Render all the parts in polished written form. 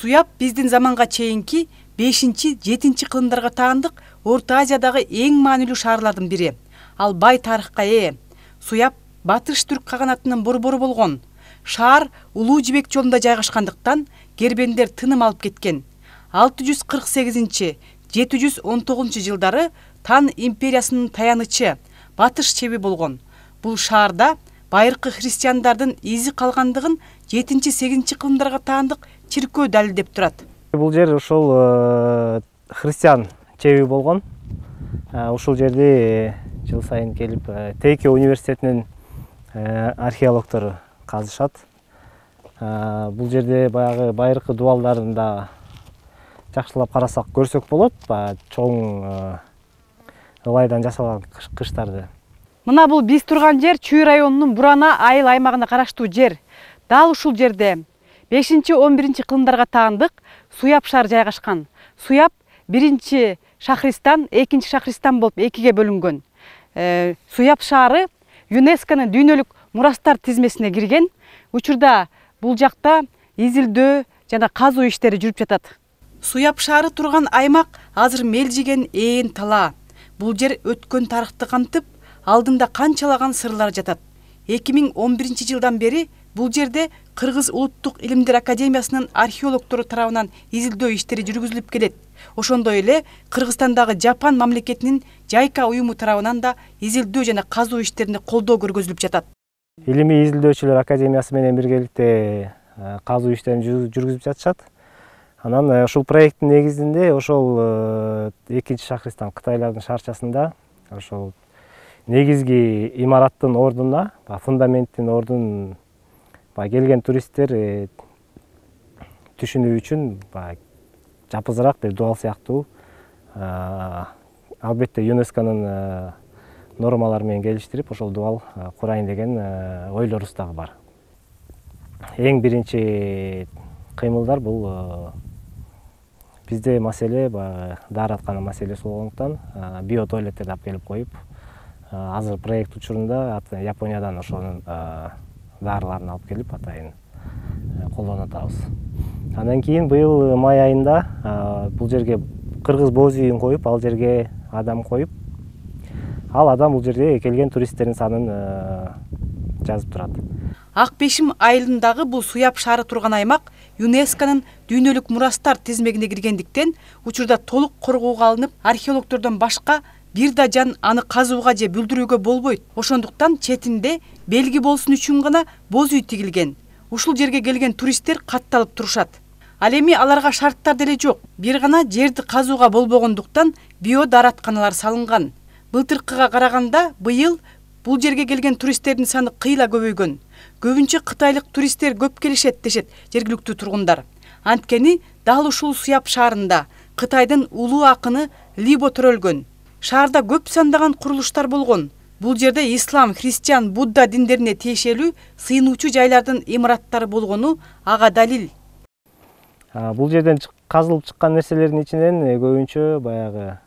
Суяб биздин заманга чейинки 5-7 кылымдарга таандык Орто Азиядагы эң маанилүү шаарлардын бири. Ал бай тарыхка ээ. Суяб Батыш түрк каганатынын борбору болгон. Шаар Улуу Жибек жолунда жайгашкандыктан кербендер тыным алып кеткен. 648-719 жылдары Тан империясынын таянычы Батыш чеби болгон. Бул шаарда байыркы христиандардын изи калгандыгын 7-8 кылымдарга таандык чиркөө далилдеп турат. Бул жер ошол христиан чеби болгон. Ушул жерди жыл сайын келип Тейке университетинин археологтору казышат. Бул жерде баягы байыркы дубалдарын да жакшылап карасак көрсөк болот. Чоң ылайдан жасалган кыштарды. Мына бул биз турган жер Чүй районунун Бурана айыл аймагына караштуу жер. Дал ушул жерде 5-11 кылымдарга таандык Суяб шаар жайгашкан. Суяб биринчи Шахристан, экинчи Шахристан болуп экиге бөлүнгөн. Суяб шаары ЮНЕСКОнун дүйнөлүк мурастар тизмесине кирген. Учурда бул жакта изилдөө жана казуу иштери жүрүп жатат. Суяб шаары турган аймак азыр мелжиген ээн тала. Бул жер өткөн тарыхты камтып, алдында канчалаган сырлар жатат. 2011 жылдан бери бул жерде Кыргыз улуттук илимдер академиясынын археологтору тарабынан изилдөө иштери жүргүзүлүп келет. Ошондой эле Кыргызстандагы Жапан мамлекетинин Жайка уюму тарабынан да изилдөө жана казуу иштерине колдоо көргөзүлүп жатат. Илимий изилдөөчүлөр академиясы менен биргеликте казуу иштерин жүргүзүп жатышат. Анан ушул проекттин негизинде ошол экинчи Шахристан Кытайлардын шаарчасында ошол негизги имараттын ордуна, фундаменттин ордун келген туристтер түшүнүү үчүн жапызыраак бир дубал сыяктуу, албетте ЮНЕСКОнун нормалары менен келиштирип, ошол дубал курайын деген ойлорубуз дагы бар. Эң биринчи кыймылдар бул бизде маселе даараткана маселеси болгондуктан биотуалеттерди алып келип коюп, азыр проект учурунда Япониядан ошонун дарыларын алып келип атайын колдонуп атабыз. Андан кийин быйыл май айында бул жерге кыргыз боз үйүн коюп, ал жерге адам коюп, ал адам бул жерге келген туристтердин санын жазып турат. Ак Бешим айылындагы бул Суяб шаары турган аймак ЮНЕСКОнун дүйнөлүк мурастар тизмегине киргендиктен учурда толук коргоого алынып, археологтордон башка бир да жан аны казууга же бүлдүрүүгө болбойт. Ошондуктан четинде белги болсун үчүн гана боз үй тигилген. Ушул жерге келген туристтер катталып турушат. Ал эми аларга шарттар деле жок. Бир гана жерди казууга болбогондуктан биодааратканалар салынган. Былтыркыга караганда быйыл бул жерге келген туристтердин саны кыйла көбөйгөн. Көбүнчө кытайлык туристтер көп келишет дешет жергиликтүү тургундар. Анткени дал ушул Суяб шаарында Кытайдын улуу акыны Либо төрөлгөн. Шаарда көп сандаган курулуштар болгон. Бул жерде ислам, христиан, Будда диндерине тиешелүү сыйынуучу жайлардын имараттары болгону ага далил. Бул жерден казылып чыккан нерселердин ичинен көбүнчө баягы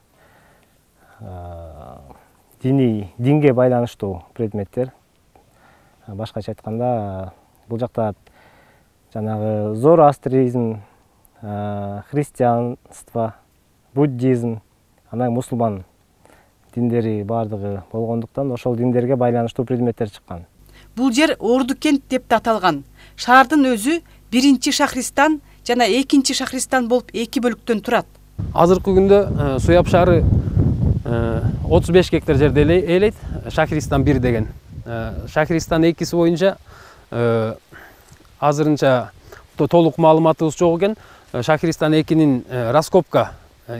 динге байланыштуу предметтер. Башкача айтканда, бул жакта жанагы зороастризм, христианство, буддизм, анан мусулман диндери бардыгы болгондуктан ошол диндерге байланыштуу предметтер чыккан. Бул жер Ордукент деп да аталган. Шаардын өзү биринчи Шахристан жана экинчи Шахристан болуп эки бөлүктөн турат. Азыркы күндө Суяб шаары 35 гектар жерди ээлейт. Шахристан 1 деген. Шахристан 2си боюнча азырынча толук маалыматыбыз жок экен. Шахристан 2нин раскопка,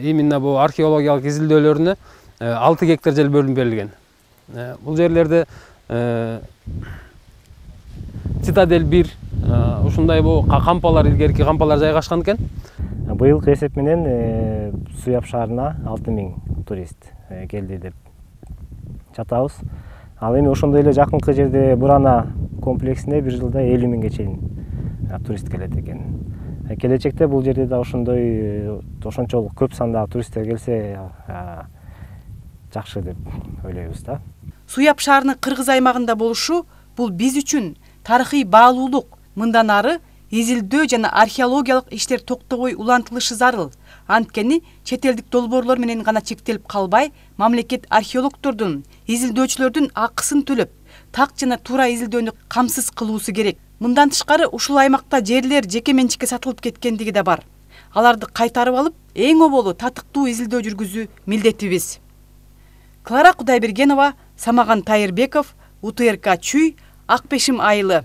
именно бул археологиялык изилдөөлөрүнө 6 гектар жер бөлүнүп берилген. Бул жерлерде Цитадель 1, ушундай бул кампалар, илгерки кампалар жайгашкан экен. Быйылкы эсеп менен Суяб шаарына 6000 турист келди деп жатабыз. Ал эми ошондой эле жакынкы жерде Бурана комплексине бир жылда 50 000ге чейин турист келет экен. Келечекте бул жерде да ошончолук көп сандагы туристтер келсе жакшы деп ойлойбуз да. Суяб шаарынын кыргыз аймагында болушу бул биз үчүн тарыхый баалуулук. Мындан ары изилдөө жана археологиялык иштер токтобой улантылышы зарыл. Анткени чет элдик долбоорлор менен гана чектелип калбай, мамлекет археологдордун, изилдөөчүлөрдүн акысын төлөп, так жана туура изилдөөнү камсыз кылуусу керек. Мындан тышкары ушул аймакта жерлер жеке менчикке сатылып кеткендиги да бар. Аларды кайтарып алып, эң оболу татыктуу изилдөө жүргүзүү милдетибиз. Клара Кудайбергенова, Самаган Тайырбеков, УТРК Чүй, Ак Бешим айылы.